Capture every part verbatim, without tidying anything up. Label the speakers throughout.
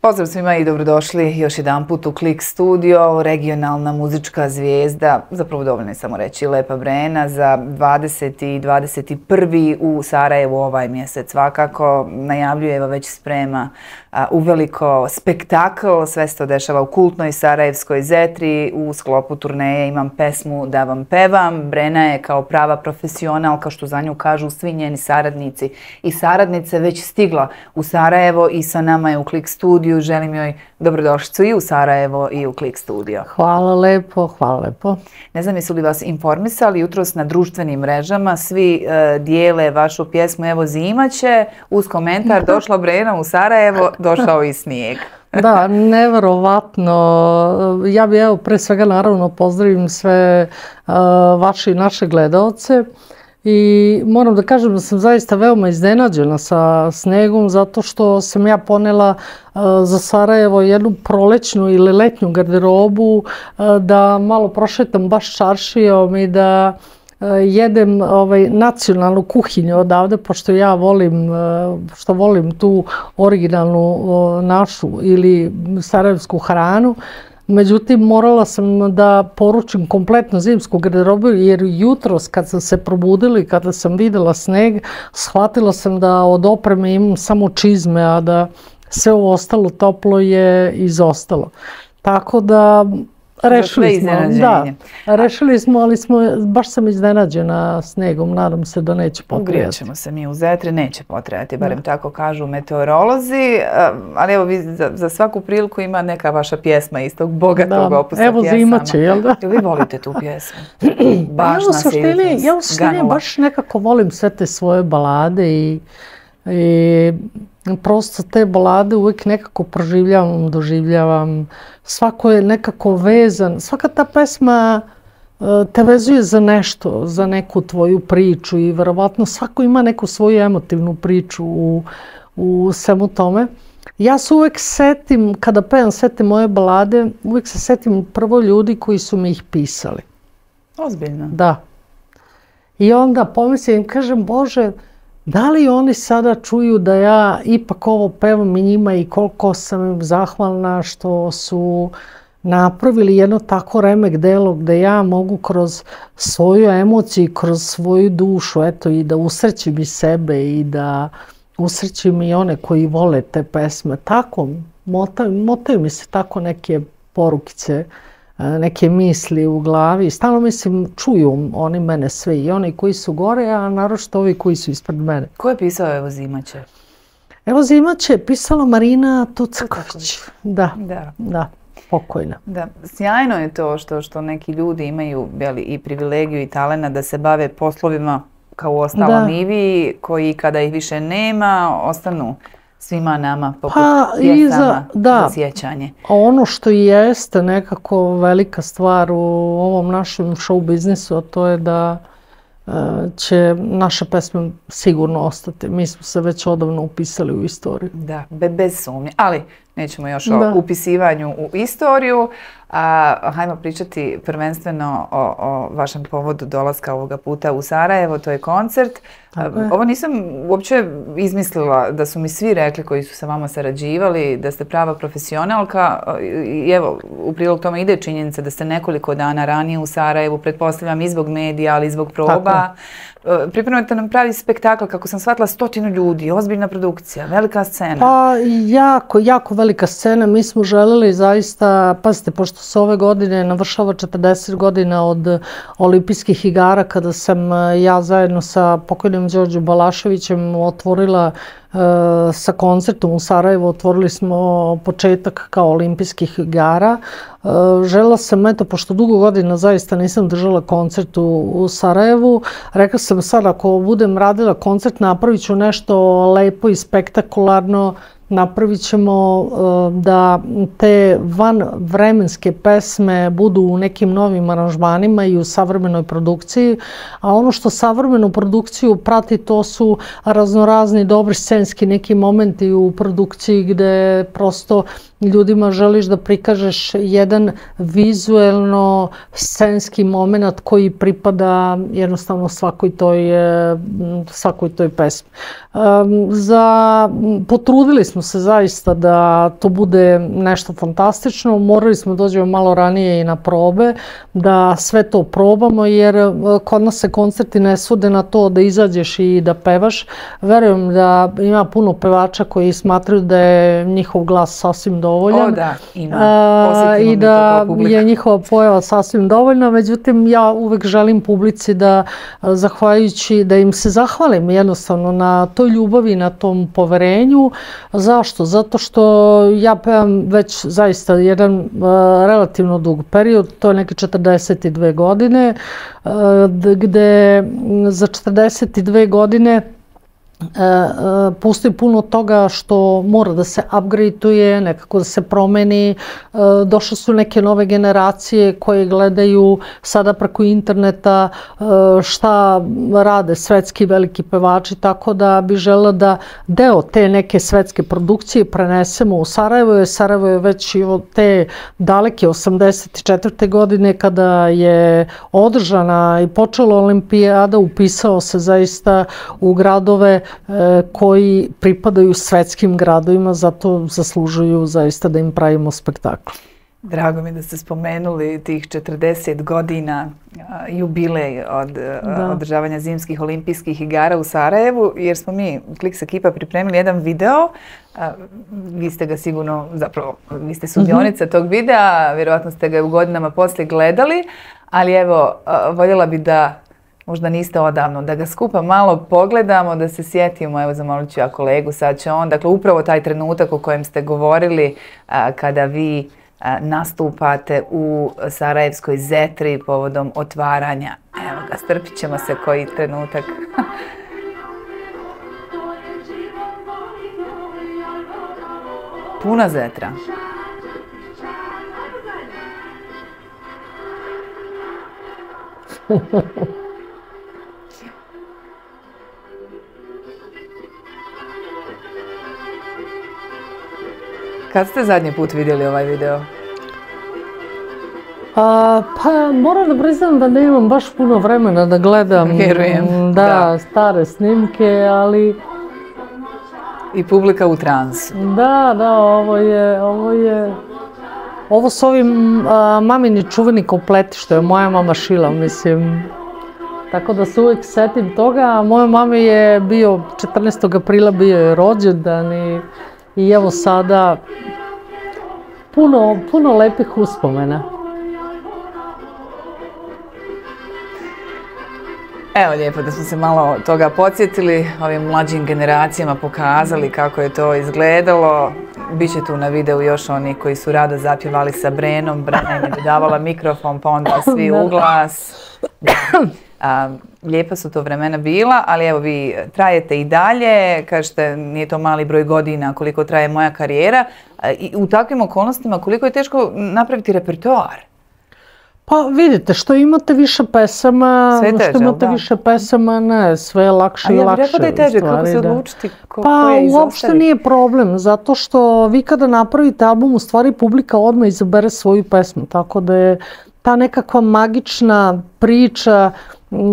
Speaker 1: Pozdrav svima i dobrodošli još jedan put u Klik studio, regionalna muzička zvijezda, zapravo dovoljno je samo reći Lepa Brena, za dvadeseti i dvadeset prvi u Sarajevu ovaj mjesec. Svakako najavljuje, evo već sprema a, uveliko spektakl, sve se to dešava u kultnoj sarajevskoj Zetri, u sklopu turneje Imam pesmu da vam pevam. Brena je kao prava profesional, kao što za nju kažu svi njeni saradnici i saradnice, već stigla u Sarajevo i sa nama je u Klik studiju. Želim joj dobrodošlicu i u Sarajevo i u Klik studio.
Speaker 2: Hvala lepo, hvala lepo.
Speaker 1: Ne znam jesu li vas informisali, jutros na društvenim mrežama svi uh, dijele vašu pjesmu Evo zima će, uz komentar došla Brena u Sarajevo, došao i snijeg.
Speaker 2: Da, neverovatno. Ja bi evo pre svega naravno pozdravim sve uh, vaše i naše gledaoce. I moram da kažem da sam zaista veoma iznenađena sa snegom zato što sam ja ponela uh, za Sarajevo jednu prolećnu ili letnju garderobu uh, da malo prošetam baš čaršijom i da uh, jedem ovaj, nacionalnu kuhinju odavde, pošto ja volim, uh, što volim tu originalnu uh, našu ili sarajevsku hranu. Međutim, morala sam da poručim kompletnu zimsku garderobu jer jutros kad sam se probudila, kada sam videla sneg, shvatila sam da od opreme imam samo čizme, a da sve ovo ostalo toplo je izostalo. Tako da rešili smo, da, rešili smo, ali smo, baš sam iznenađena snegom, nadam se da neće potrebati.
Speaker 1: Ugrijat ćemo se mi u Zetri, neće potrebati, barem da. Tako kažu meteorolozi, ali evo vi za, za svaku priliku ima neka vaša pjesma iz tog bogatog da. Opusa
Speaker 2: evo
Speaker 1: pjesama.
Speaker 2: Evo zima će, jel da?
Speaker 1: Vi volite tu pjesmu? Baš
Speaker 2: ja u suštini, ja u suštini baš nekako volim sve te svoje balade i, i prosto te balade uvijek nekako proživljavam, doživljavam. Svako je nekako vezan. Svaka ta pesma te vezuje za nešto, za neku tvoju priču i verovatno svako ima neku svoju emotivnu priču u, u svemu tome. Ja se uvijek setim, kada pevam sve te moje balade, uvijek se setim prvo ljudi koji su mi ih pisali.
Speaker 1: Ozbiljno?
Speaker 2: Da. I onda pomislim, kažem, Bože, da li oni sada čuju da ja ipak ovo pevam i njima i koliko sam im zahvalna što su napravili jedno tako remek delo gde ja mogu kroz svoju emociju, kroz svoju dušu, eto, i da usrećim i sebe i da usrećim i one koji vole te pesme. Tako, motaju, motaju mi se tako neke porukice, neke misli u glavi. Stalno mislim, čuju oni mene sve, i oni koji su gore, a naročito ovi koji su ispred mene.
Speaker 1: Ko je pisao Evo zima će?
Speaker 2: Evo zima će pisala Marina Tucaković. Da,
Speaker 1: da,
Speaker 2: da, pokojna.
Speaker 1: Da, sjajno je to što, što neki ljudi imaju beli, i privilegiju i talena da se bave poslovima kao u ostalom i vi, koji kada ih više nema, ostanu svima nama poput pa, pjesama za, da, za sjećanje.
Speaker 2: A ono što jeste nekako velika stvar u ovom našem show biznisu, a to je da uh, će naše pesme sigurno ostati. Mi smo se već odavno upisali u istoriju.
Speaker 1: Da, be, bez sumnje. Ali nećemo još da. o upisivanju u istoriju. A, hajmo pričati prvenstveno o, o vašem povodu dolaska ovoga puta u Sarajevo, to je koncert. A, ovo nisam uopće izmislila, da su mi svi rekli koji su sa vama sarađivali, da ste prava profesionalka. I evo, u prilog tome ide činjenica da ste nekoliko dana ranije u Sarajevu, pretpostavljam i zbog medija, ali i zbog proba. Pripremate nam pravi spektakl, kako sam shvatila, stotinu ljudi, ozbiljna produkcija, velika scena.
Speaker 2: Pa jako, jako velika scena. Mi smo želeli zaista, pazite, pošto se ove godine navršava četrdeset godina od olimpijskih igara, kada sam ja zajedno sa pokojnim Đorđem Balaševićem otvorila uh, sa koncertom u Sarajevu, otvorili smo početak kao olimpijskih igara. Uh, želela sam, eto, pošto dugo godina zaista nisam držala koncert u, u Sarajevu, rekla sam sad ako budem radila koncert napravit ću nešto lepo i spektakularno, napravit ćemo uh, da te vanvremenske pesme budu u nekim novim aranžmanima i u savremenoj produkciji, a ono što savremenu produkciju prati to su raznorazni dobri scenski neki momenti u produkciji gde prosto ljudima želiš da prikažeš jedan vizuelno scenski moment koji pripada jednostavno svakoj toj, svakoj toj pesmi. Za, potrudili smo se zaista da to bude nešto fantastično, morali smo dođemo malo ranije i na probe, da sve to probamo, jer kod nas se koncerti ne svode na to da izađeš i da pevaš. Verujem da ima puno pevača koji smatraju da je njihov glas sasvim dovoljan.
Speaker 1: O da, ima.
Speaker 2: I da je njihova pojava sasvim dovoljna, međutim ja uvek želim publici da, zahvaljujući, da im se zahvalim jednostavno na toj ljubavi, na tom poverenju. Zašto? Zato što ja pevam već zaista jedan uh, relativno dug period, to je neke četrdeset dve godine, uh, gde za četrdeset dve godine postoji puno toga što mora da se upgradeuje, nekako da se promeni. Došle su neke nove generacije koje gledaju sada preko interneta šta rade svetski veliki pevači, tako da bi želela da deo te neke svetske produkcije prenesemo u Sarajevo, jer Sarajevo je već i od te daleke osamdeset četvrte godine kada je održana i počela olimpijada, upisao se zaista u gradove koji pripadaju svetskim gradovima, zato zaslužuju zaista da im pravimo spektakl.
Speaker 1: Drago mi da ste spomenuli tih četrdeset godina jubilej od održavanja zimskih olimpijskih igara u Sarajevu, jer smo mi, Kliks ekipa, pripremili jedan video. Vi ste ga sigurno, zapravo, vi ste sudionica tog videa, vjerovatno ste ga u godinama poslije gledali, ali evo, voljela bi da možda niste odavno, da ga skupa malo pogledamo, da se sjetimo, evo zamolit ću ja kolegu, sad će on, dakle upravo taj trenutak o kojem ste govorili a, kada vi a, nastupate u Sarajevskoj Zetri povodom otvaranja. Evo ga, strpit ćemo se koji trenutak. Puna Zetra. Kad ste zadnji put vidjeli ovaj video?
Speaker 2: A, pa moram da priznam da nemam baš puno vremena da gledam.
Speaker 1: Vjerujem.
Speaker 2: Da, da, stare snimke, ali...
Speaker 1: I publika u transu.
Speaker 2: Da, da, ovo je... Ovo je... Ovo su ovi a, mamini čuveni kompleti što je moja mama šila, mislim. Tako da se uvijek setim toga. Moja mama je bio, četrnaestog aprila bio je rođendan i... I evo sada puno, puno lepih uspomena.
Speaker 1: Evo lijepo da smo se malo toga podsjetili, ovim mlađim generacijama pokazali kako je to izgledalo. Biće tu na videu još oni koji su rado zapjevali sa Brenom, Brena im je davala mikrofon pa onda svi u glas. A, lijepa su to vremena bila, ali evo vi trajete i dalje, kažete nije to mali broj godina koliko traje moja karijera. A, i u takvim okolnostima koliko je teško napraviti repertoar?
Speaker 2: Pa vidite, što imate više pesama,
Speaker 1: sve teže,
Speaker 2: što imate
Speaker 1: da.
Speaker 2: više pesama, ne, sve je lakše i lakše.
Speaker 1: A ja bih rekao da je teže, kako se odlučiti, ko,
Speaker 2: pa,
Speaker 1: ko je izostaviti?
Speaker 2: Pa uopšte nije problem, zato što vi kada napravite album, u stvari publika odmah izabere svoju pesmu, tako da je ta nekakva magična priča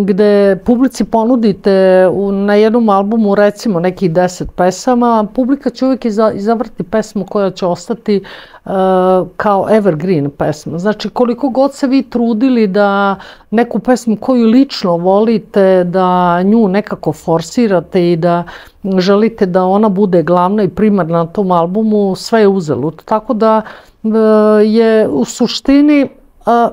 Speaker 2: gde publici ponudite u, na jednom albumu recimo nekih deset pesama, publika će uvijek iza, izabrati pesmu koja će ostati uh, kao evergreen pesma. Znači koliko god se vi trudili da neku pesmu koju lično volite, da nju nekako forsirate i da želite da ona bude glavna i primarna na tom albumu, sve je uzalud. Tako da uh, je u suštini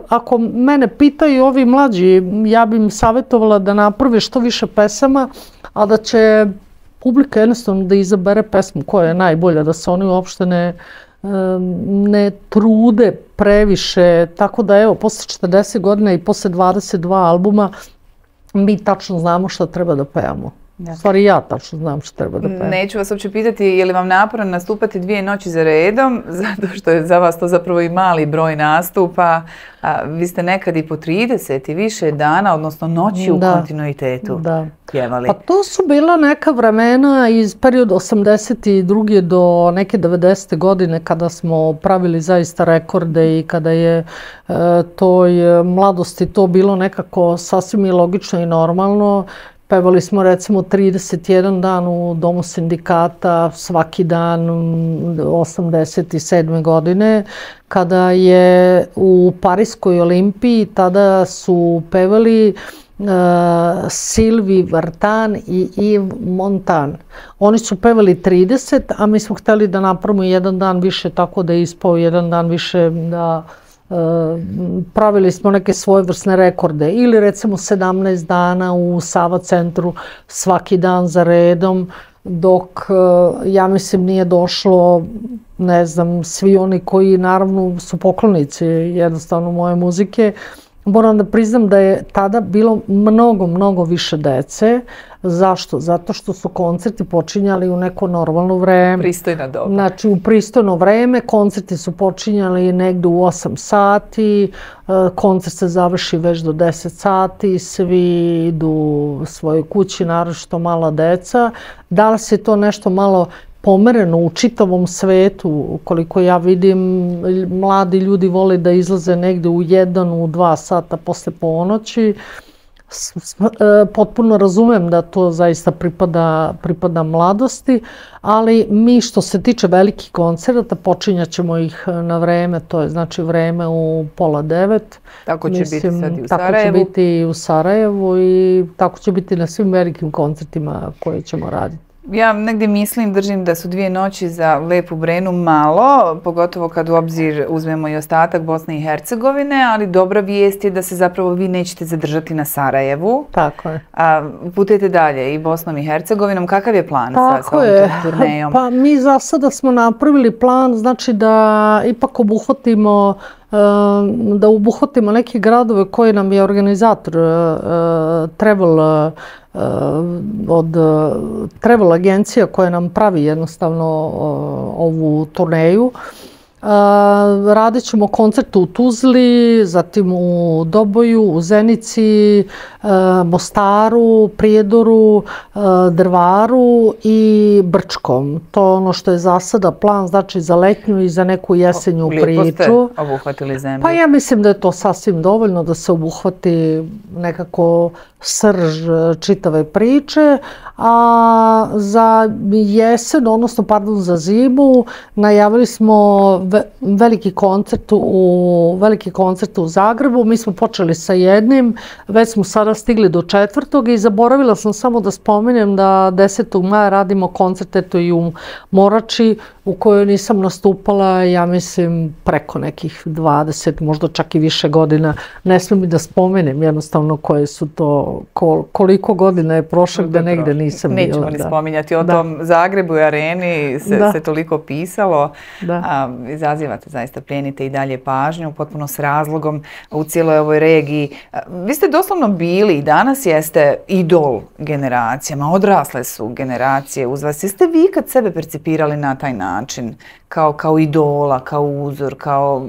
Speaker 2: ako mene pitaju ovi mlađi, ja bi im savjetovala da naprave što više pesama, a da će publika jednostavno da izabere pesmu koja je najbolja, da se oni uopšte ne, ne trude previše. Tako da evo, posle četrdeset godina i posle dvadeset dva albuma mi tačno znamo šta treba da pevamo. U stvari ja tačno znam što treba da pevam.
Speaker 1: Neću vas uopće pitati je li vam naporno nastupati dvije noći za redom, zato što je za vas to zapravo i mali broj nastupa. A, vi ste nekad i po trideset i više dana, odnosno noći u kontinuitetu pjevali.
Speaker 2: Pa to su bila neka vremena iz perioda osamdeset druge do neke devedesete godine kada smo pravili zaista rekorde i kada je e, toj mladosti to bilo nekako sasvim i logično i normalno. Pevali smo recimo trideset jedan dan u Domu sindikata svaki dan osamdeset sedme godine kada je u Pariskoj olimpiji tada su pevali uh, Sylvie Vartan i Yves Montand. Oni su pevali trideset, a mi smo htjeli da napravimo jedan dan više tako da je ispao jedan dan više da Uh, pravili smo neke svojevrsne rekorde ili recimo sedamnaest dana u Sava centru svaki dan za redom dok uh, ja mislim nije došlo ne znam svi oni koji naravno su poklonici jednostavno moje muzike. Moram da priznam da je tada bilo mnogo, mnogo više dece. Zašto? Zato što su koncerti počinjali u neko normalno vreme.
Speaker 1: Pristojna doba.
Speaker 2: Znači u pristojno vreme, koncerti su počinjali negde u osam sati, koncert se završi već do deset sati, svi idu svojoj kući, naročito mala deca. Da li se to nešto malo pomereno u čitavom svetu, koliko ja vidim, mladi ljudi vole da izlaze negde u jedan, u dva sata posle ponoći. Potpuno razumem da to zaista pripada, pripada mladosti, ali mi što se tiče velikih koncerata počinjat ćemo ih na vreme, to je znači vreme u pola devet.
Speaker 1: Tako će
Speaker 2: Mislim,
Speaker 1: biti sad i u
Speaker 2: tako
Speaker 1: Sarajevu.
Speaker 2: Tako će biti i u Sarajevu i tako će biti na svim velikim koncertima koje ćemo raditi.
Speaker 1: Ja negdje mislim, držim da su dvije noći za Lepu Brenu malo, pogotovo kad u obzir uzmemo i ostatak Bosne i Hercegovine, ali dobra vijest je da se zapravo vi nećete zadržati na Sarajevu.
Speaker 2: Tako je.
Speaker 1: A putujete dalje i Bosnom i Hercegovinom. Kakav je plan sa, sa ovom turnejom?
Speaker 2: Pa mi za sada smo napravili plan, znači da ipak obuhvatimo da obuhvatimo neke gradove koje nam je organizator Travel od travel agencija koja nam pravi jednostavno ovu turneju. Radit ćemo koncerte u Tuzli, zatim u Doboju, u Zenici, Mostaru, Prijedoru, Drvaru i Brčkom. To je ono što je za sada plan, znači za letnju i za neku jesenju priču.
Speaker 1: Lijepo ste obuhvatili zemlju.
Speaker 2: Pa ja mislim da je to sasvim dovoljno da se obuhvati nekako srž čitave priče, a za jesen, odnosno pardon za zimu, najavili smo veliki koncert u veliki koncert u Zagrebu. Mi smo počeli sa jednim, već smo sada stigli do četvrtog i zaboravila sam samo da spomenem da desetog maja radimo koncert eto i u Morači u kojoj nisam nastupala, ja mislim preko nekih dvadeset, možda čak i više godina. Ne smijem mi da spomenem jednostavno koje su to, koliko godina je prošlo da negde nisam bila.
Speaker 1: Nećemo ni spominjati o tom Zagrebu i areni, se toliko pisalo. Izazivate zaista, plijenite i dalje pažnju, potpuno s razlogom u cijeloj ovoj regiji. Vi ste doslovno bili i danas jeste idol generacijama, odrasle su generacije uz vas. Jeste vi kad sebe percipirali na taj način, kao, kao idola, kao uzor, kao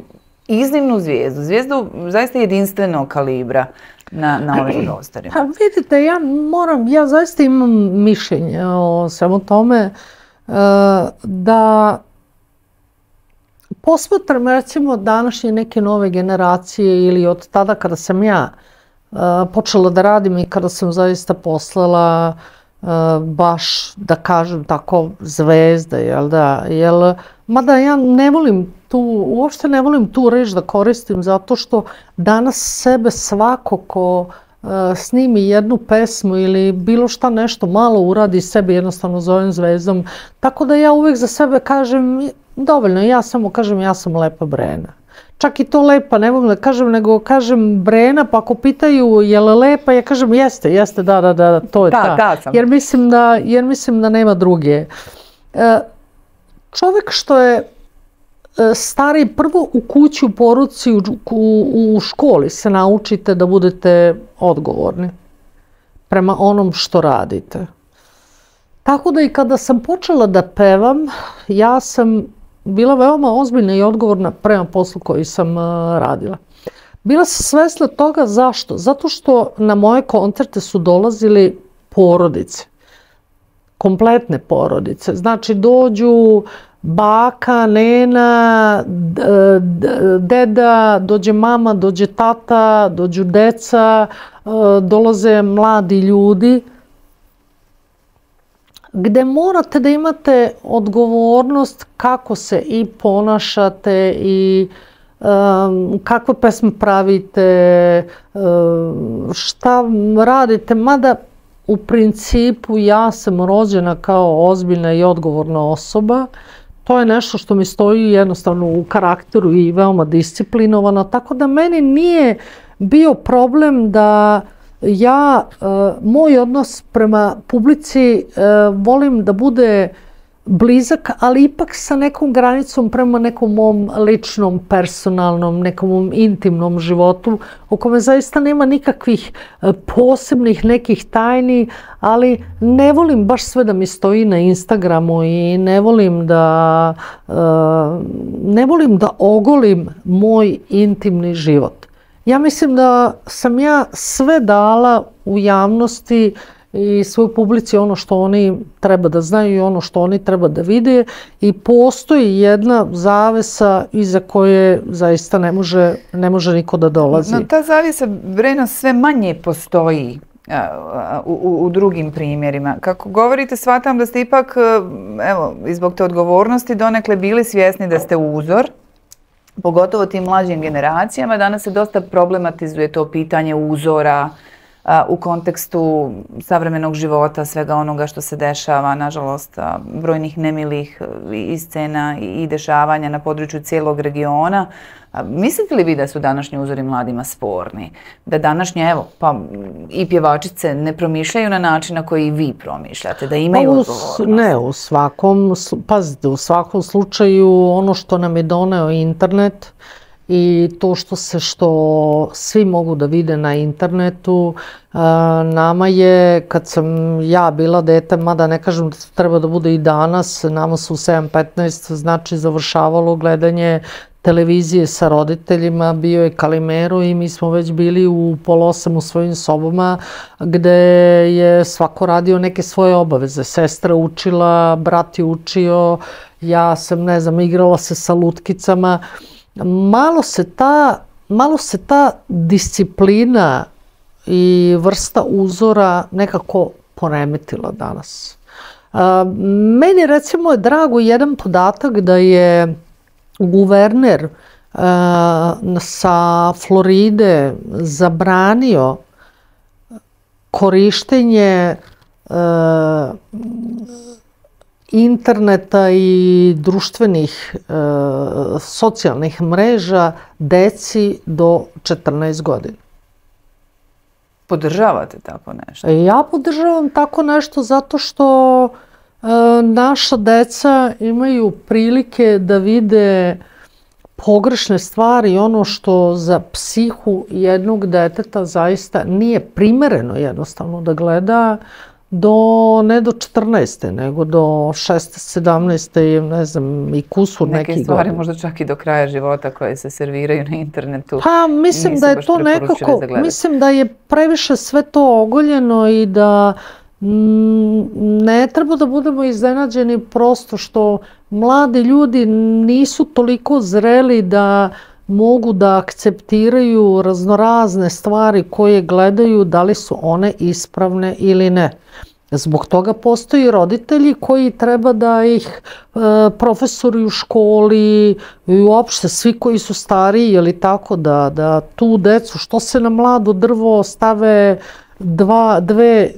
Speaker 1: iznimnu zvijezdu, zvijezdu zaista jedinstvenog kalibra na, na ovim prostorima?
Speaker 2: Pa vidite, ja moram, ja zaista imam mišljenje o svemu tome da posmatram recimo današnje neke nove generacije ili od tada kada sam ja počela da radim i kada sam zaista poslala baš, da kažem tako, zvezde, jel da, jel, mada ja ne volim tu, uopšte ne volim tu reč da koristim zato što danas sebe svako ko snimi jednu pesmu ili bilo šta nešto malo uradi sebe jednostavno zovem zvezdom, tako da ja uvijek za sebe kažem dovoljno, ja samo kažem ja sam Lepa Brena. Čak i to lepa, ne mogu da kažem, nego kažem Brena, pa ako pitaju je li lepa, ja kažem jeste, jeste, da, da, da, to je ta.
Speaker 1: Da, sam.
Speaker 2: Jer mislim da, jer mislim da nema druge. Čovjek što je stari, prvo u kući, u poruci, u, u, u školi se naučite da budete odgovorni prema onom što radite. Tako da i kada sam počela da pevam, ja sam bila veoma ozbiljna i odgovorna prema poslu koji sam radila. Bila sam svesna toga zašto? Zato što na moje koncerte su dolazili porodice, kompletne porodice. Znači dođu baka, nena, deda, dođe mama, dođe tata, dođu deca, dolaze mladi ljudi, gde morate da imate odgovornost kako se i ponašate i um, kakve pesme pravite, um, šta radite, mada u principu ja sam rođena kao ozbiljna i odgovorna osoba. To je nešto što mi stoji jednostavno u karakteru i veoma disciplinovano, tako da meni nije bio problem da ja, moj odnos prema publici volim da bude blizak, ali ipak sa nekom granicom prema nekom mom ličnom, personalnom, nekom mom intimnom životu, u kome zaista nema nikakvih posebnih nekih tajni, ali ne volim baš sve da mi stoji na Instagramu i ne volim da, ne volim da ogolim moj intimni život. Ja mislim da sam ja sve dala u javnosti i svoj publici ono što oni treba da znaju i ono što oni treba da vide i postoji jedna zavesa iza koje zaista ne može, ne može niko da dolazi.
Speaker 1: No, ta zavesa, Breno, sve manje postoji u, u, u drugim primjerima. Kako govorite, shvatam da ste ipak, evo, i zbog te odgovornosti donekle bili svjesni da ste uzor, pogotovo tim mlađim generacijama. Danas se dosta problematizuje to pitanje uzora u kontekstu savremenog života, svega onoga što se dešava, nažalost, brojnih nemilih i scena i dešavanja na području cijelog regiona. Mislite li vi da su današnji uzori mladima sporni? Da današnje, evo, pa i pjevačice ne promišljaju na način na koji vi promišljate, da imaju odgovornost?
Speaker 2: Ne, u svakom, pazite, u svakom slučaju ono što nam je doneo internet i to što se što svi mogu da vide na internetu, nama je, kad sam ja bila dete, mada ne kažem da to treba da bude i danas, nama su u sedam petnaest znači završavalo gledanje televizije sa roditeljima, bio je Kalimero i mi smo već bili u pola osam u svojim sobama gde je svako radio neke svoje obaveze. Sestra učila, brat je učio, ja sam, ne znam, igrala se sa lutkicama. Malo se ta, malo se ta disciplina i vrsta uzora nekako poremetila danas. Meni recimo je drago jedan podatak da je guverner sa Floride zabranio korištenje interneta i društvenih socijalnih mreža deci do četrnaest godina.
Speaker 1: Podržavate tako nešto?
Speaker 2: Ja podržavam tako nešto zato što naša deca imaju prilike da vide pogrešne stvari, ono što za psihu jednog deteta zaista nije primereno jednostavno da gleda, do, ne do četrnaeste, nego do šesnaeste, sedamnaeste, ne znam, i kusur neki godina.
Speaker 1: Neke stvari možda čak i do kraja života koje se serviraju na internetu.
Speaker 2: Pa mislim da je to nekako, mislim da je previše sve to ogoljeno i da ne treba da budemo iznenađeni prosto što mladi ljudi nisu toliko zreli da mogu da akceptiraju raznorazne stvari koje gledaju, da li su one ispravne ili ne. Zbog toga postoji roditelji koji treba da ih e, profesori u školi i uopšte svi koji su stariji, ili tako, da, da tu decu, što se na mlado drvo stave dva, dve,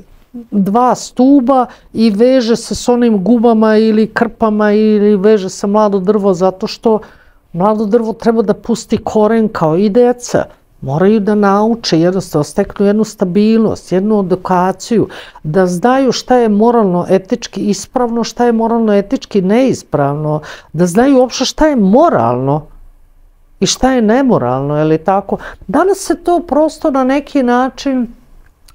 Speaker 2: dva stuba i veže se s onim gubama ili krpama ili veže se mlado drvo zato što mlado drvo treba da pusti koren kao i deca. Moraju da nauče, jednostavno steknu jednu stabilnost, jednu edukaciju, da znaju šta je moralno etički ispravno, šta je moralno etički neispravno, da znaju uopšte šta je moralno i šta je nemoralno, je li tako? Danas se to prosto na neki način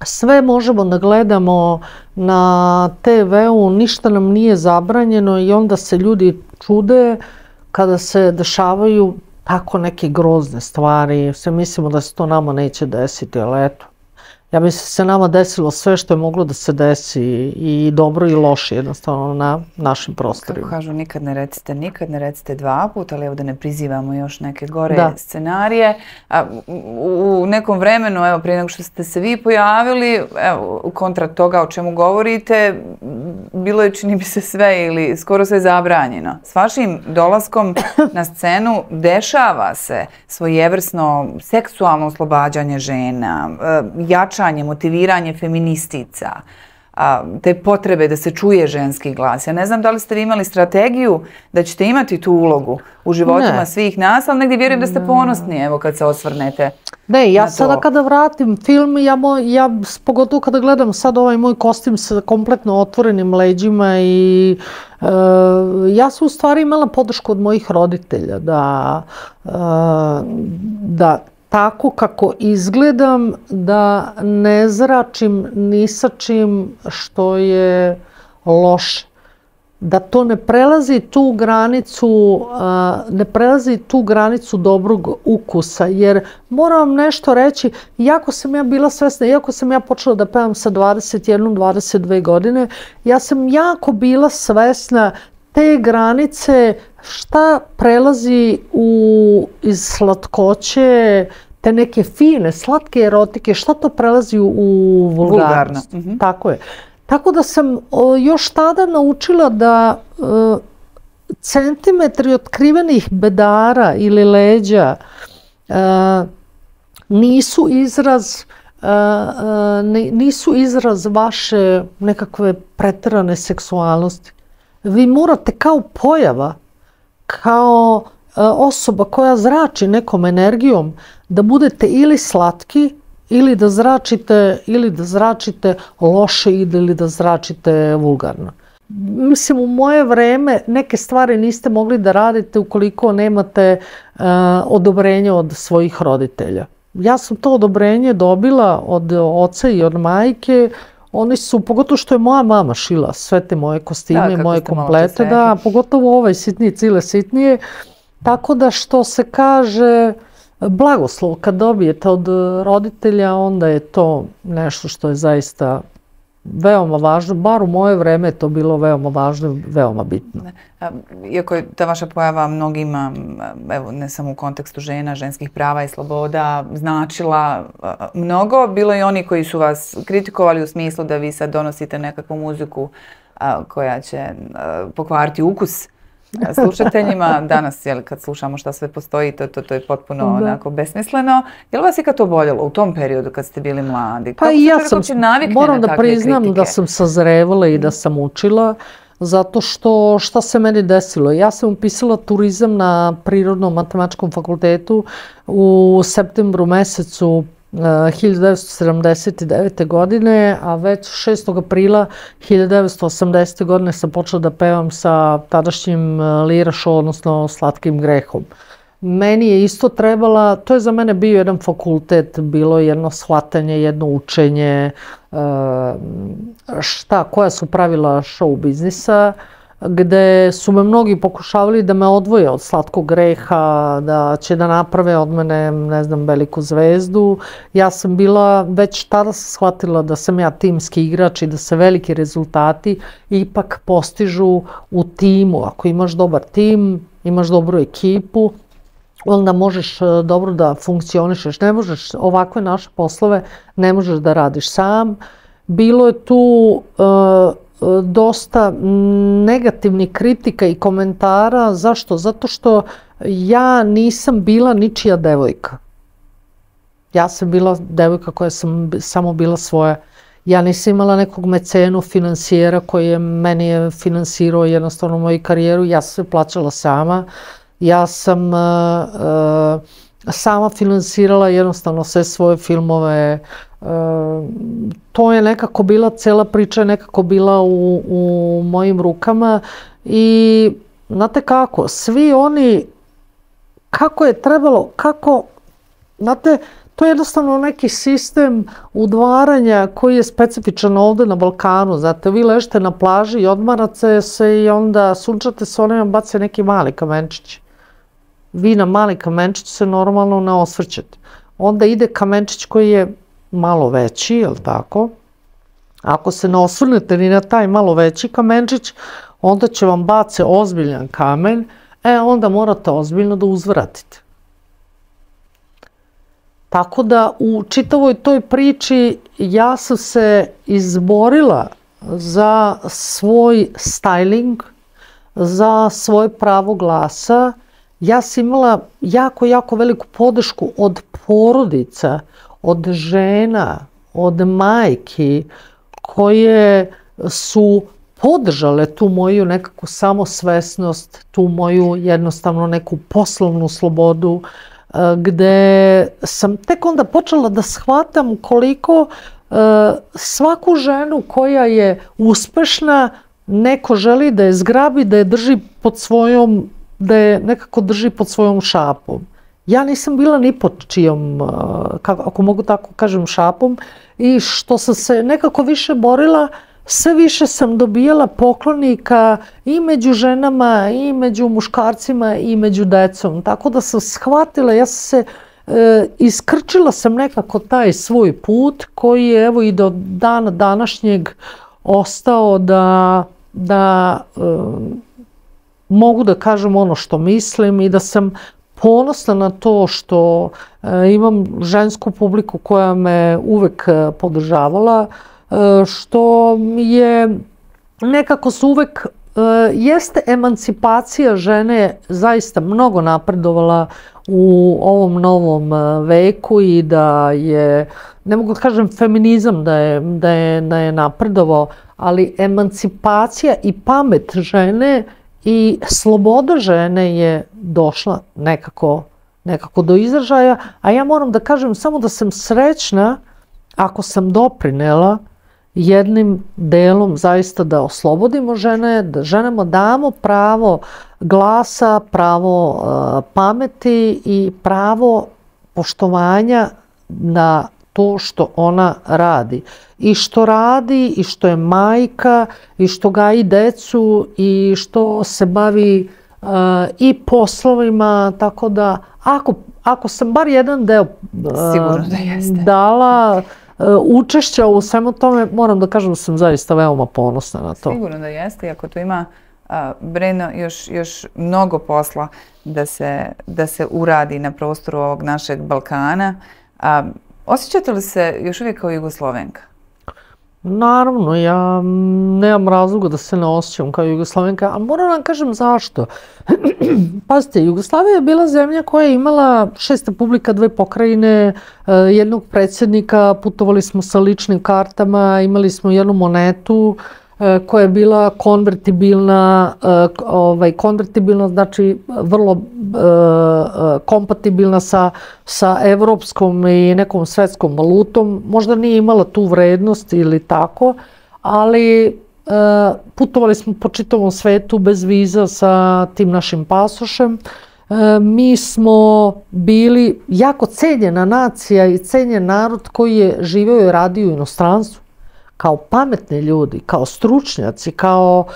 Speaker 2: sve možemo da gledamo na te veu, ništa nam nije zabranjeno i onda se ljudi čude kada se dešavaju tako neke grozne stvari. Sve mislimo da se to nama neće desiti, ali eto. Ja mislim da se nama desilo sve što je moglo da se desi i dobro i loše jednostavno na našim prostorima.
Speaker 1: Kako kažu, nikad ne recite nikad, ne recite dva puta, ali evo da ne prizivamo još neke gore scenarije. U nekom vremenu, evo prije nego što ste se vi pojavili, evo kontra toga o čemu govorite, bilo je čini mi se sve ili skoro sve zabranjeno. S vašim dolaskom na scenu dešava se svojevrsno seksualno oslobađanje žena, jačanje, motiviranje feministica, te potrebe da se čuje ženski glas. Ja ne znam da li ste vi imali strategiju da ćete imati tu ulogu u životima svih nas, ali negdje vjerujem da ste ponosni, evo kad se osvrnete.
Speaker 2: Ne, ja sada kada vratim film, ja pogotovo kada gledam sad ovaj moj kostim sa kompletno otvorenim leđima i ja sam u stvari imala podršku od mojih roditelja da tako kako izgledam, da ne zračim ni sa čim što je loše. Da to ne prelazi tu granicu, ne prelazi tu granicu dobrog ukusa, jer moram vam nešto reći, iako sam ja bila svesna, iako sam ja počela da pevam sa dvadeset jedne dvadeset dve godine, ja sam jako bila svesna te granice šta prelazi iz slatkoće, te neke fine, slatke erotike, šta to prelazi u vulgarnost. Tako je. Tako da sam još tada naučila da centimetri otkrivenih bedara ili leđa nisu izraz nisu izraz vaše nekakve preterane seksualnosti. Vi morate kao pojava, kao osoba koja zrači nekom energijom, da budete ili slatki, ili da zračite, ili da zračite loše ili da zračite vulgarno. Mislim, u moje vreme neke stvari niste mogli da radite ukoliko nemate odobrenje od svojih roditelja. Ja sam to odobrenje dobila od oca i od majke. Oni su, pogotovo što je moja mama šila sve te moje kostime, moje komplete, da, pogotovo ovaj sitnije, cile sitnije. Tako da što se kaže blagoslov kad dobijete od roditelja, onda je to nešto što je zaista veoma važno, bar u moje vreme je to bilo veoma važno i veoma bitno.
Speaker 1: Iako je ta vaša pojava mnogima, evo ne samo u kontekstu žena, ženskih prava i sloboda, značila mnogo, bilo je i oni koji su vas kritikovali u smislu da vi sad donosite nekakvu muziku koja će pokvariti ukus slušateljima. Danas, kad slušamo šta sve postoji, to je potpuno onako besmisleno. Je li vas ikad to boljelo u tom periodu kad ste bili mladi?
Speaker 2: Pa i ja sam, moram da priznam da sam sazrevala i da sam učila, zato što šta se meni desilo? Ja sam upisala turizam na Prirodnom matematičkom fakultetu u septembru mesecu hiljadu devetsto sedamdeset devete. godine, a već šestog aprila hiljadu devetsto osamdesete. godine sam počela da pevam sa tadašnjim Lira Show, odnosno Slatkim grehom. Meni je isto trebala, to je za mene bio jedan fakultet, bilo jedno shvatanje, jedno učenje, šta, koja su pravila show biznisa, gde su me mnogi pokušavali da me odvoje od Slatkog greha, da će da naprave od mene, ne znam, veliku zvezdu. Ja sam bila, već tada sam shvatila da sam ja timski igrač i da se veliki rezultati ipak postižu u timu. Ako imaš dobar tim, imaš dobru ekipu, onda možeš dobro da funkcionišeš. Ne možeš, ovakve naše poslove ne možeš da radiš sam. Bilo je tu dosta negativnih kritika i komentara. Zašto? Zato što ja nisam bila ničija devojka. Ja sam bila devojka koja sam samo bila svoja. Ja nisam imala nekog mecenu, finansijera koji je meni je finansirao jednostavno moju karijeru. Ja sam se plaćala sama. Ja sam sama finansirala jednostavno sve svoje filmove. To je nekako bila, cela priča je nekako bila u, u mojim rukama i znate kako, svi oni, kako je trebalo, kako, znate, to je jednostavno neki sistem udvaranja koji je specifičan ovde na Balkanu. Znate, vi ležite na plaži i odmarate se i onda sunčate se, oni vam bace neki mali kamenčić. Vi na mali kamenčić se normalno ne osvrćete. Onda ide kamenčić koji je malo veći, je li tako? Ako se ne osvrnete ni na taj malo veći kamenčić, onda će vam bace ozbiljan kamen, e onda morate ozbiljno da uzvratite. Tako da u čitavoj toj priči ja sam se izborila za svoj styling, za svoje pravo glasa. Ja sam imala jako, jako veliku podršku od porodica, od žena, od majki koje su podržale tu moju nekakvu samosvesnost, tu moju jednostavno neku poslovnu slobodu, gde sam tek onda počela da shvatam koliko svaku ženu koja je uspešna neko želi da je zgrabi, da je drži pod svojom, da je nekako drži pod svojom šapom. Ja nisam bila ni pod čijom, ako mogu tako kažem, šapom, i što sam se nekako više borila, sve više sam dobijala poklonika i među ženama, i među muškarcima, i među decom. Tako da sam shvatila, ja sam se, e, iskrčila sam nekako taj svoj put koji je evo i do dana današnjeg ostao da, da e, mogu da kažem ono što mislim i da sam ponosna na to što e, imam žensku publiku koja me uvek podržavala, što je nekako su uvek, jeste emancipacija žene zaista mnogo napredovala u ovom novom veku i da je, ne mogu da kažem feminizam da je, da je, da je napredovao, ali emancipacija i pamet žene i sloboda žene je došla nekako, nekako do izražaja, a ja moram da kažem samo da sam srećna ako sam doprinela jednim delom zaista da oslobodimo žene, da ženama damo pravo glasa, pravo uh, pameti i pravo poštovanja na to što ona radi. I što radi, i što je majka, i što gaji decu, i što se bavi uh, i poslovima, tako da ako, ako sam bar jedan deo uh,
Speaker 1: Sigurno da jeste.
Speaker 2: dala učešća u svemu tome, moram da kažem da sam zaista veoma ponosna na to.
Speaker 1: Sigurno da jeste, iako tu ima, a, Breno, još, još mnogo posla da se, da se uradi na prostoru ovog našeg Balkana. A, osjećate li se još uvijek kao Jugoslovenka?
Speaker 2: Naravno, ja nemam razloga da se ne osjećam kao Jugoslovenka, ali moram vam kažem zašto. Pazite, Jugoslavija je bila zemlja koja je imala šest republika, dve pokrajine, jednog predsjednika, putovali smo sa ličnim kartama, imali smo jednu monetu koja je bila konvertibilna, ovaj, konvertibilna znači vrlo uh, kompatibilna sa, sa evropskom i nekom svetskom valutom. Možda nije imala tu vrednost ili tako, ali uh, putovali smo po čitavom svetu bez viza sa tim našim pasošem. Uh, mi smo bili jako cenjena nacija i cenjen narod koji je živeo i radio u inostranstvu. Kao pametni ljudi, kao stručnjaci, kao e,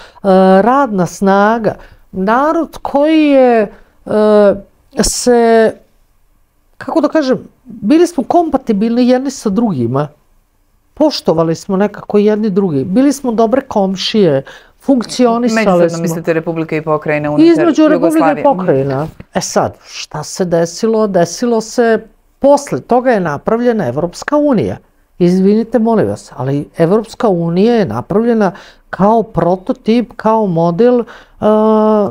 Speaker 2: radna snaga. Narod koji je e, se, kako da kažem, bili smo kompatibilni jedni sa drugima. Poštovali smo nekako jedni drugi. Bili smo dobre komšije, funkcionisali smo.
Speaker 1: Međusobno mislite Republika i pokrajina unutar Jugoslavije?
Speaker 2: Između Republika i pokrajina. E sad, šta se desilo? Desilo se, posle toga je napravljena Evropska unija. Izvinite, molim vas, ali Evropska unija je napravljena kao prototip, kao model uh,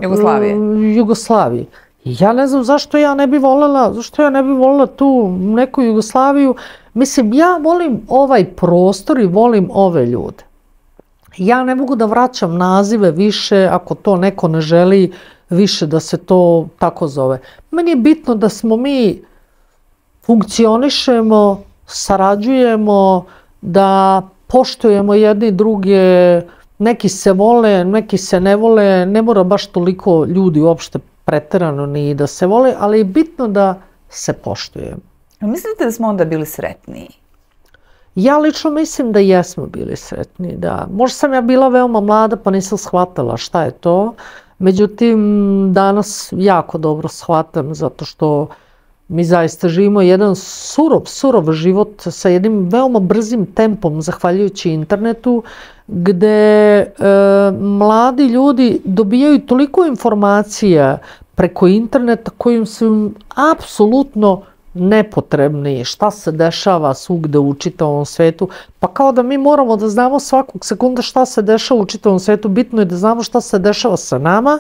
Speaker 1: Jugoslavije.
Speaker 2: Jugoslavije. I ja ne znam zašto ja ne bi voljela, zašto ja ne bi voljela tu neku Jugoslaviju. Mislim, ja volim ovaj prostor i volim ove ljude. Ja ne mogu da vraćam nazive više ako to neko ne želi više da se to tako zove. Meni je bitno da smo mi funkcionišemo, sarađujemo, da poštujemo jedni druge, neki se vole, neki se ne vole, ne mora baš toliko ljudi uopšte preterano ni da se vole, ali je bitno da se poštujemo.
Speaker 1: Mislite da smo onda bili sretniji?
Speaker 2: Ja lično mislim da jesmo bili sretni, da. Možda sam ja bila veoma mlada pa nisam shvatala šta je to. Međutim, danas jako dobro shvatam zato što mi zaista živimo jedan surov, surov život sa jednim veoma brzim tempom zahvaljujući internetu gde e, mladi ljudi dobijaju toliko informacija preko interneta kojim su apsolutno nepotrebni, šta se dešava svugde u čitavom svetu, pa kao da mi moramo da znamo svakog sekunda šta se dešava u čitavom svetu, bitno je da znamo šta se dešava sa nama,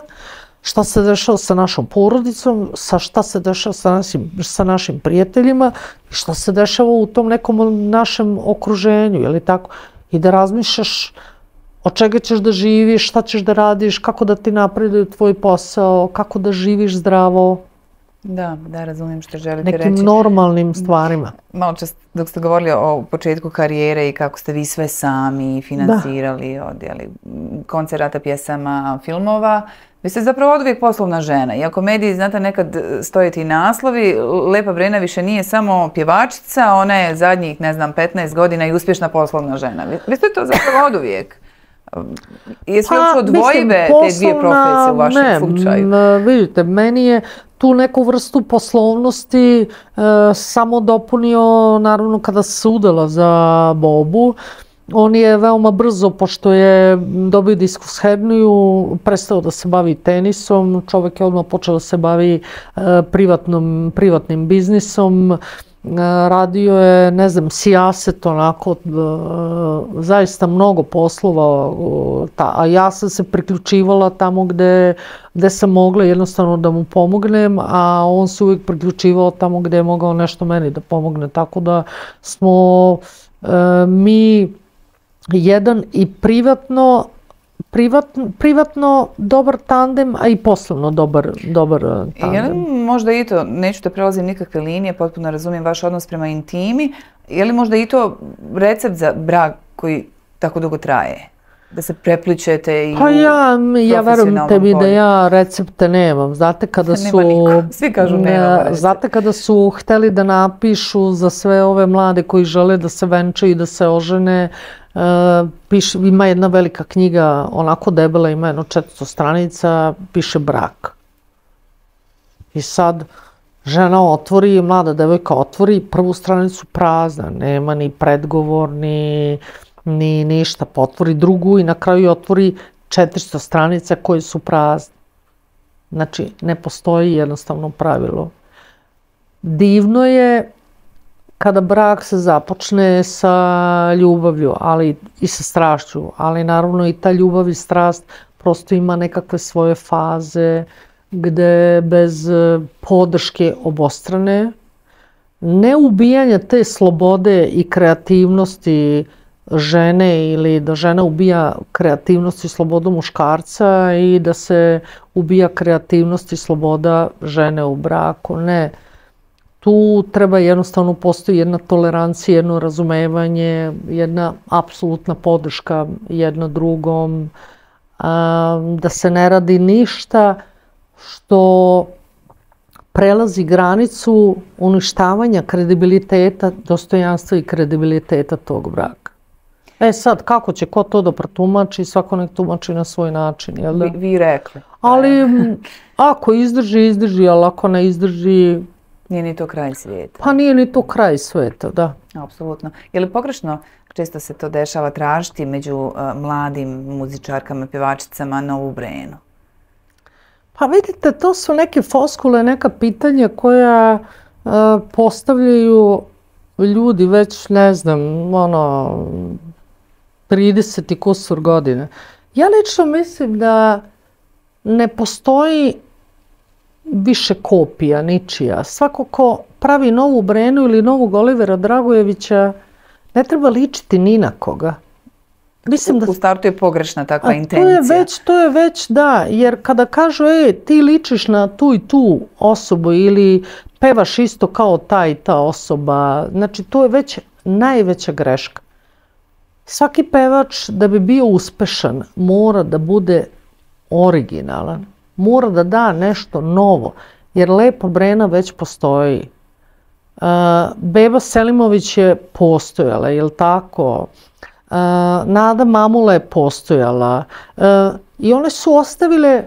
Speaker 2: šta se dešava sa našom porodicom, sa šta se dešava sa našim, sa našim prijateljima i šta se dešava u tom nekom našem okruženju, je li tako? I da razmišljaš od čega ćeš da živiš, šta ćeš da radiš, kako da ti napreduju tvoj posao, kako da živiš zdravo.
Speaker 1: Da, da, razumijem što želite reći.
Speaker 2: Nekim normalnim stvarima.
Speaker 1: Malo čas dok ste govorili o početku karijere i kako ste vi sve sami financirali od jeli, koncerata, pjesama, filmova, vi ste zapravo od uvijek poslovna žena. Iako mediji, znate, nekad stoje ti naslovi, Lepa Brena više nije samo pjevačica, ona je zadnjih, ne znam, petnaest godina i uspješna poslovna žena. Vi, vi ste to zapravo od uvijek. Jesu li uopće odvojive te dvije profesije u vašem slučaju?
Speaker 2: Vidite, meni je tu neku vrstu poslovnosti e, samo dopunio, naravno, kada se udala za Bobu. On je veoma brzo, pošto je dobio diskus herniju, prestao da se bavi tenisom. Čovjek je odmah počeo da se bavi e, privatnom, privatnim biznisom. Radio je, ne znam, sijaset, onako, zaista mnogo poslova, a ja sam se priključivala tamo gde, gde sam mogla jednostavno da mu pomognem, a on se uvijek priključivao tamo gde je mogao nešto meni da pomogne, tako da smo e, mi jedan i privatno Privatno, privatno dobar tandem, a i poslovno dobar, dobar tandem.
Speaker 1: Je li možda i to, neću da prelazim nikakve linije, potpuno razumijem vaš odnos prema intimi, je li možda i to recept za brak koji tako dugo traje? Da se prepličete i
Speaker 2: pa ja, ja verujem tebi da ja recepte nemam. Znate kada su...
Speaker 1: Svi kažu nemam recepte.
Speaker 2: Znate kada su hteli da napišu za sve ove mlade koji žele da se venčaju i da se ožene, Uh, piše, ima jedna velika knjiga, onako debela, ima jedno četiristo stranica, piše brak. I sad žena otvori, mlada devojka otvori prvu stranicu prazna, nema ni predgovor, ni, ni ništa, pa otvori drugu i na kraju otvori četiristo stranica koje su prazne. Znači, ne postoji jednostavno pravilo. Divno je kada brak se započne sa ljubavlju, ali i sa strašću, ali naravno i ta ljubav i strast prosto ima nekakve svoje faze gde bez podrške obostrane, ne ubijanja te slobode i kreativnosti žene ili da žena ubija kreativnost i slobodu muškarca i da se ubija kreativnost i sloboda žene u braku, ne. Tu treba jednostavno postoji jedna tolerancija, jedno razumevanje, jedna apsolutna podrška jedno drugom, da se ne radi ništa što prelazi granicu uništavanja kredibiliteta, dostojanstva i kredibiliteta tog braka. E sad, kako će ko to da protumači, svako nek tumači na svoj način, jel da?
Speaker 1: Vi, vi rekli.
Speaker 2: Ali ako izdrži, izdrži, ali ako ne izdrži...
Speaker 1: Nije ni to kraj svijeta.
Speaker 2: Pa nije ni to kraj svijeta, da.
Speaker 1: Apsolutno. Je li pogrešno, često se to dešava, tražiti među uh, mladim muzičarkama, pjevačicama novu Brenu?
Speaker 2: Pa vidite, to su neke foskule, neka pitanja koja uh, postavljaju ljudi već, ne znam, ono, trideset i kusur godine. Ja lično mislim da ne postoji više kopija, ničija. Svako ko pravi novu Brenu ili novog Olivera Dragojevića ne treba ličiti ni na koga.
Speaker 1: Mislim da... U startu je pogrešna takva
Speaker 2: A
Speaker 1: intencija.
Speaker 2: To je već, to je već, da, jer kada kažu, e, ti ličiš na tu i tu osobu ili pevaš isto kao ta i ta osoba, znači to je već najveća greška. Svaki pevač da bi bio uspešan mora da bude originalan. Mora da da nešto novo, jer Lepa Brena već postoji. Beba Selimović je postojala, je li tako? Nada Mamula je postojala. I one su ostavile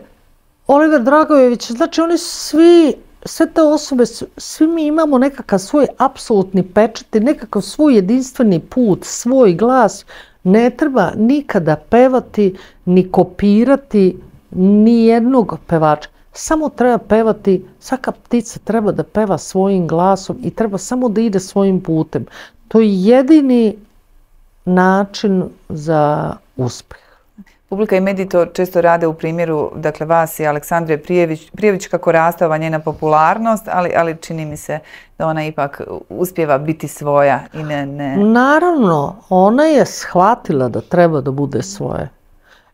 Speaker 2: Oliver Dragojević, znači oni svi, sve te osobe, svi mi imamo nekakav svoj apsolutni pečat i nekakav svoj jedinstveni put, svoj glas. Ne treba nikada pevati, ni kopirati ni jednog pevača. Samo treba pevati, svaka ptica treba da peva svojim glasom i treba samo da ide svojim putem. To je jedini način za uspeh.
Speaker 1: Publika i mediji to često rade u primjeru, dakle, vas i Aleksandre Prijević, Prijević kako raste ova njena popularnost, ali, ali čini mi se da ona ipak uspijeva biti svoja i ne, ne...
Speaker 2: Naravno, ona je shvatila da treba da bude svoje.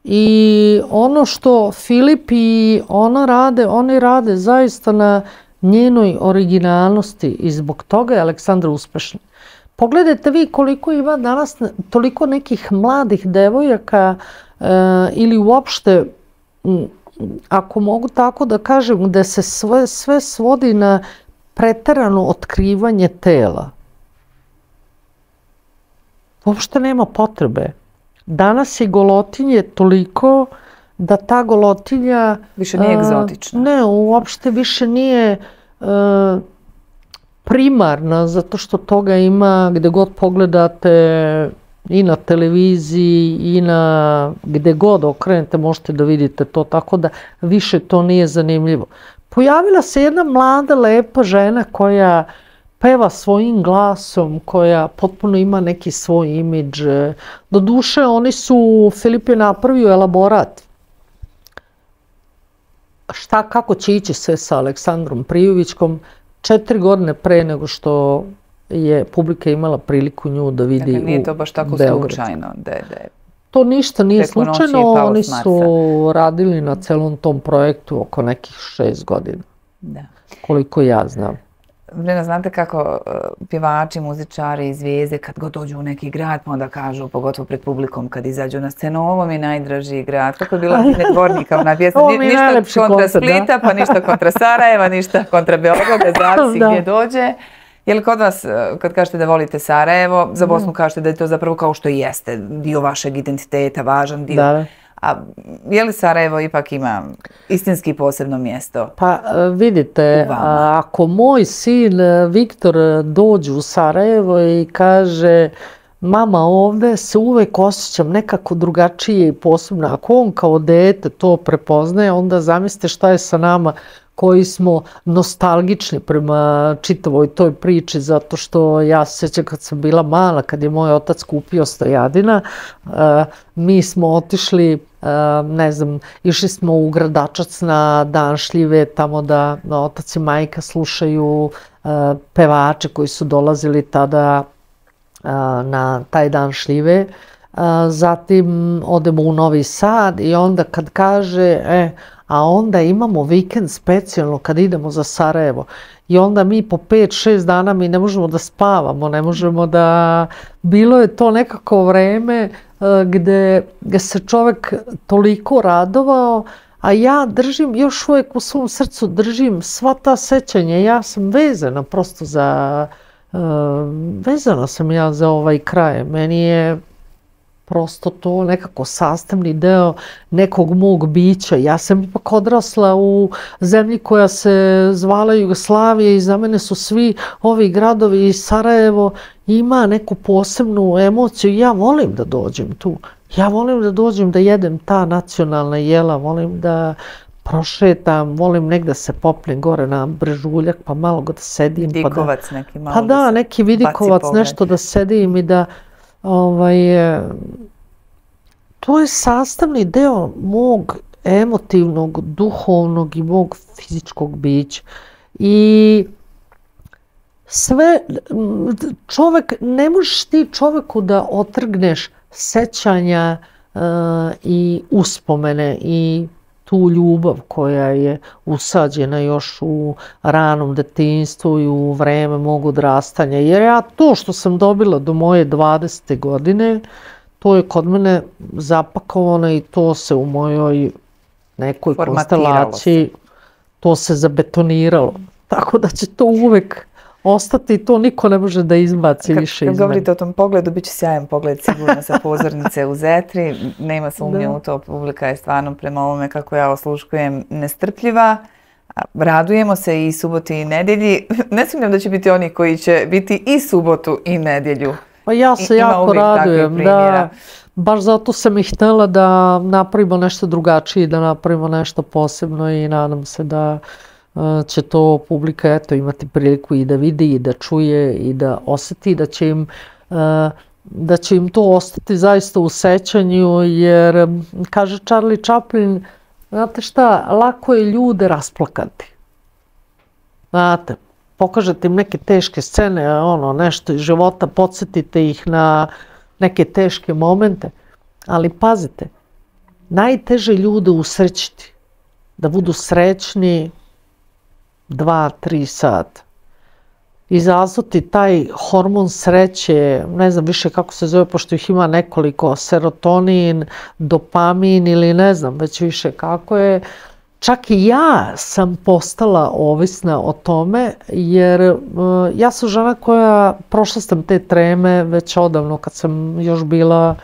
Speaker 2: I ono što Filip i ona rade, oni rade zaista na njenoj originalnosti i zbog toga je Aleksandra uspešna. Pogledajte vi koliko ima danas toliko nekih mladih devojaka e, ili uopšte, ako mogu tako da kažem, gde se sve, sve svodi na preterano otkrivanje tela. Uopšte nema potrebe. Danas je golotinje toliko da ta golotinja...
Speaker 1: Više nije egzotična.
Speaker 2: Ne, uopšte više nije e, primarna, zato što toga ima gde god pogledate i na televiziji i na gde god okrenete možete da vidite to, tako da više to nije zanimljivo. Pojavila se jedna mlada, lepa žena koja peva svojim glasom, koja potpuno ima neki svoj imidž. Doduše, oni su, Filip je napravio elaborat šta, kako će ići sve sa Aleksandrom Prijovićkom četiri godine pre nego što je publika imala priliku nju da vidi u Beogradu. Dakle,
Speaker 1: nije to baš tako slučajno. De, de.
Speaker 2: To ništa nije slučajno, oni su radili na celom tom projektu oko nekih šest godina. Da. Koliko ja znam.
Speaker 1: Brena, znate kako pjevači, muzičari, zvijezde, kad god dođu u neki grad, pa onda kažu, pogotovo pred publikom, kad izađu na scenu, ovo mi je najdraži grad. Kako je bila Dvornika ona pjesma? Ništa kontra Splita, pa ništa kontra Sarajeva, ništa kontra Beograda, zavisi gdje dođe. Je li kod vas, kad kažete da volite Sarajevo, za Bosnu kažete da je to zapravo kao što i jeste, dio vašeg identiteta, važan dio?
Speaker 2: Da.
Speaker 1: A je li Sarajevo ipak ima istinski posebno mjesto?
Speaker 2: Pa vidite, ako moj sin Viktor dođe u Sarajevo i kaže mama, ovdje se uvek osjećam nekako drugačije i posebno, ako on kao dete to prepoznaje, onda zamislite šta je sa nama koji smo nostalgični prema čitavoj toj priči, zato što ja se sjećam kad sam bila mala, kad je moj otac kupio Stojadina, mi smo otišli, ne znam, išli smo u Gradačac na dan šljive, tamo da otac i majka slušaju pevače koji su dolazili tada na taj dan šljive. Zatim odemo u Novi Sad i onda kad kaže, e, a onda imamo vikend specijalno kad idemo za Sarajevo i onda mi po pet šest dana mi ne možemo da spavamo, ne možemo da... Bilo je to nekako vreme gde, gde se čovjek toliko radovao, a ja držim, još uvijek u svom srcu držim sva ta sećanja, ja sam vezana prosto za... Vezana sam ja za ovaj kraj, meni je prosto to nekako sastavni deo nekog mog bića. Ja sam ipak odrasla u zemlji koja se zvala Jugoslavija i za mene su svi ovi gradovi i Sarajevo ima neku posebnu emociju. Ja volim da dođem tu. Ja volim da dođem da jedem ta nacionalna jela, volim da prošetam, volim negdje se popnem gore na Brežuljak pa malo da sedim.
Speaker 1: Vidikovac neki malo.
Speaker 2: Pa da, neki vidikovac, nešto da sedim i da Ovaj, to je sastavni deo mog emotivnog, duhovnog i mog fizičkog bića. I sve, čovjek, ne možeš ti čovjeku da otrgneš sećanja uh, i uspomene i tu ljubav koja je usađena još u ranom detinjstvu i u vreme mog odrastanja. Jer ja to što sam dobila do moje dvadesete godine, to je kod mene zapakovano i to se u mojoj nekoj konstelaciji, to se zabetoniralo. Tako da će to uvek ostati i to niko ne može da izbaci više iz mene.
Speaker 1: Kad govorite o tom pogledu, bit će sjajan pogled sigurno sa pozornice u Zetri. Nema sumnje u to, publika je stvarno prema ovome kako ja osluškujem nestrpljiva. Radujemo se i suboti i nedjelji. Ne sumnjam da će biti oni koji će biti i subotu i nedjelju.
Speaker 2: Pa ja se jako radujem, da. Baš zato sam i htjela da napravimo nešto drugačije, da napravimo nešto posebno i nadam se da će to publika eto, imati priliku i da vidi i da čuje i da osjeti, da će im, da će im to ostati zaista u sećanju, jer kaže Charlie Chaplin, znate šta, lako je ljude rasplakati. Znate, pokažete im neke teške scene, ono, nešto iz života, podsjetite ih na neke teške momente, ali pazite, najteže ljude usrećiti, da budu srećni dva, tri sata. Izazvati taj hormon sreće, ne znam više kako se zove, pošto ih ima nekoliko, serotonin, dopamin ili ne znam već više kako je. Čak i ja sam postala ovisna o tome, jer uh, ja sam žena koja, prošla sam te treme već odavno kad sam još bila,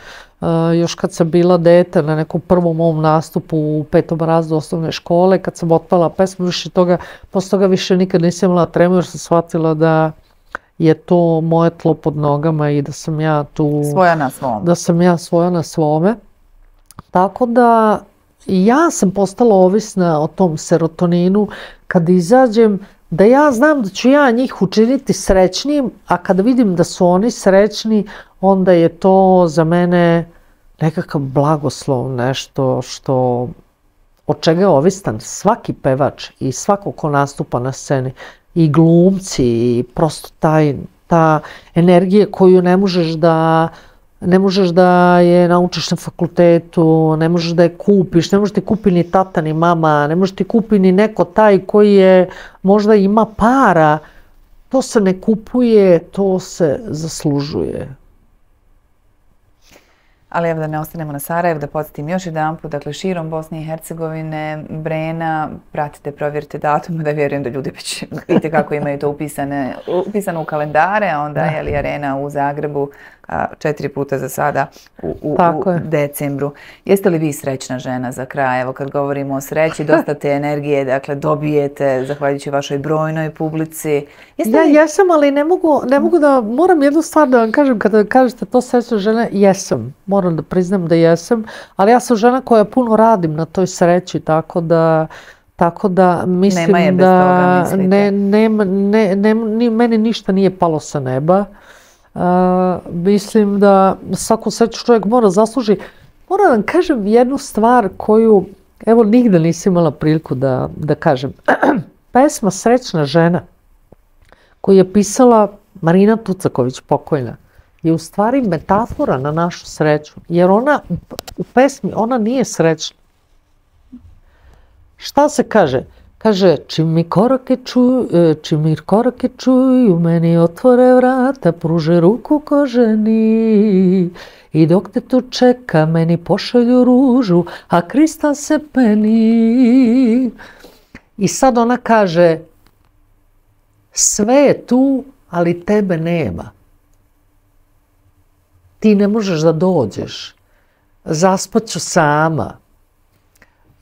Speaker 2: uh, još kad sam bila dete na nekom prvom mom nastupu u petom razredu osnovne škole, kad sam otpala pesmu, više toga, posle toga više nikad nisam imala tremu jer sam shvatila da je to moje tlo pod nogama i da sam ja tu...
Speaker 1: Svoja na svom.
Speaker 2: Da sam ja svoja na svome. Tako da ja sam postala ovisna o tom serotoninu kad izađem, da ja znam da ću ja njih učiniti srećnim, a kada vidim da su oni srećni, onda je to za mene nekakav blagoslov, nešto što, od čega je ovisan svaki pevač i svako ko nastupa na sceni, i glumci, i prosto taj, ta energija koju ne možeš da ne možeš da je naučiš na fakultetu, ne možeš da je kupiš, ne možeš ti kupi ni tata ni mama, ne možeš ti kupi ni neko taj koji je, možda ima para. To se ne kupuje, to se zaslužuje.
Speaker 1: Ali evo da ne ostanemo na Sarajevu, da podsjetim još jedan put, dakle širom Bosne i Hercegovine, Brena, pratite, provjerite datum, da vjerujem da ljudi već vidite kako imaju to upisane, upisano u kalendare, a onda je li Arena u Zagrebu a, četiri puta za sada u, u, u decembru. Jeste li vi srećna žena za kraj? Evo kad govorimo o sreći, dosta te energije dakle, dobijete zahvaljujući vašoj brojnoj publici.
Speaker 2: Jeste li... Ja jesam, ali ne mogu, ne mogu da, moram jednu stvar da vam kažem, kada kažete to srećna žena, jesam. Moram da priznam da jesam, ali ja sam žena koja puno radim na toj sreći, tako da tako da mislim
Speaker 1: nema je bez
Speaker 2: da
Speaker 1: toga, mislite.
Speaker 2: ne, ne, ne, ne, ni, meni ništa nije palo sa neba. Uh, mislim da svaku sreću čovjek mora zasluži. Moram vam kažem jednu stvar koju evo nigde nisam imala priliku da, da kažem. Pesma Srećna žena koju je pisala Marina Tucaković, pokojna, je u stvari metafora na našu sreću, jer ona u pesmi, ona nije srećna. Šta se kaže? Kaže, čim mi korake čuju, čim mi korake čuju, meni otvore vrata, pruže ruku ko ženi. I dok te tu čeka, meni pošalju ružu, a kristal se peni. I sad ona kaže, sve je tu, ali tebe nema. Ti ne možeš da dođeš, zaspaću sama.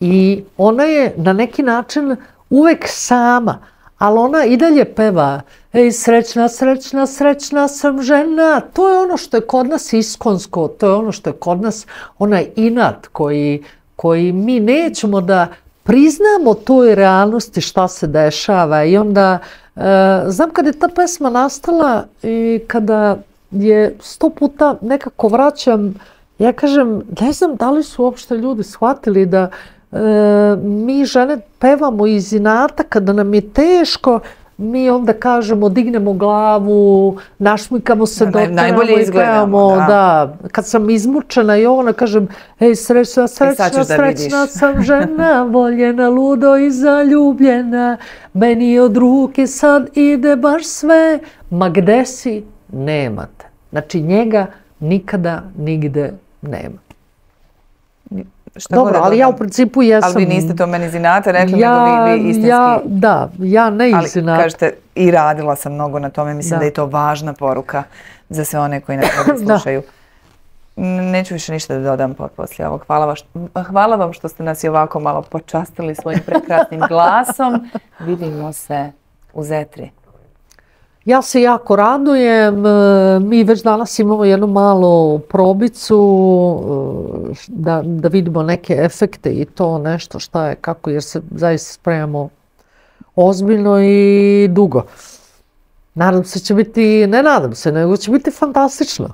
Speaker 2: I ona je na neki način uvek sama, ali ona i dalje peva. Ej, srećna, srećna, srećna sam žena. To je ono što je kod nas iskonsko, to je ono što je kod nas onaj inat koji, koji mi nećemo da priznamo toj realnosti šta se dešava. I onda, e, znam kada je ta pesma nastala i kada je sto puta nekako vraćam, ja kažem, ne znam da li su uopšte ljudi shvatili da e, mi žene pevamo iz inata, kada nam je teško, mi onda kažemo, dignemo glavu, našmikamo se, doteramo i pevamo. Da. Da. Kad sam izmučena i ona kažem, ej, srećna, srećna, srećna sam žena, voljena, ludo i zaljubljena, meni od ruke sad ide baš sve, ma gde si? Nemate. Znači njega nikada nigde nema.
Speaker 1: Šta
Speaker 2: Dobro,
Speaker 1: god da
Speaker 2: ali ja u
Speaker 1: dodam.
Speaker 2: principu jesam...
Speaker 1: Ali vi niste to meni iz inata rekli,
Speaker 2: ja,
Speaker 1: nego vi, vi istinski...
Speaker 2: Ja, da, ja ne iz inata.
Speaker 1: Ali kažete, i radila sam mnogo na tome, mislim da, da je to važna poruka za sve one koji nas slušaju. Neću više ništa da dodam poslije ovog. Hvala, vaš, hvala vam što ste nas i ovako malo počastili svojim prekrasnim glasom. Vidimo se u Zetri.
Speaker 2: Ja se jako radujem. Mi već danas imamo jednu malu probicu da, da vidimo neke efekte i to nešto šta je, kako, jer se zaista spremamo ozbiljno i dugo. Nadam se će biti, ne nadam se, nego će biti fantastično.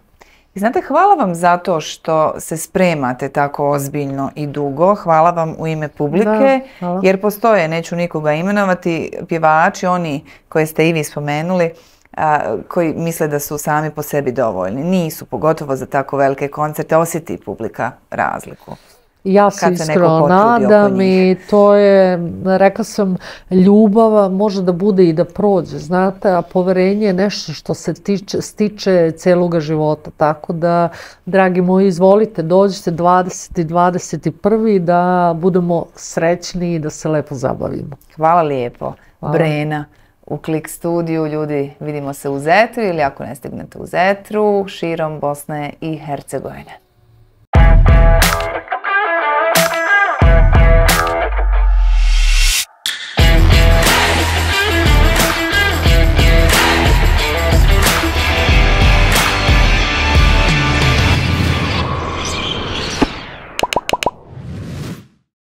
Speaker 1: I znate, hvala vam zato što se spremate tako ozbiljno i dugo. Hvala vam u ime publike, da, jer postoje, neću nikoga imenovati, pjevači, oni koje ste i vi spomenuli, a, koji misle da su sami po sebi dovoljni. Nisu, pogotovo za tako velike koncerte, osjeti publika razliku.
Speaker 2: Ja se iskreno nadam i to je, rekla sam, ljubav može da bude i da prođe, znate, a poverenje je nešto što se tiče, stiče celoga života. Tako da, dragi moji, izvolite, dođite dvadeseti i dvadeset prvi da budemo srećni i da se lepo zabavimo.
Speaker 1: Hvala lijepo. Hvala. Brena u Klik studiju. Ljudi, vidimo se u Zetru ili ako ne stignete u Zetru, širom Bosne i Hercegovine.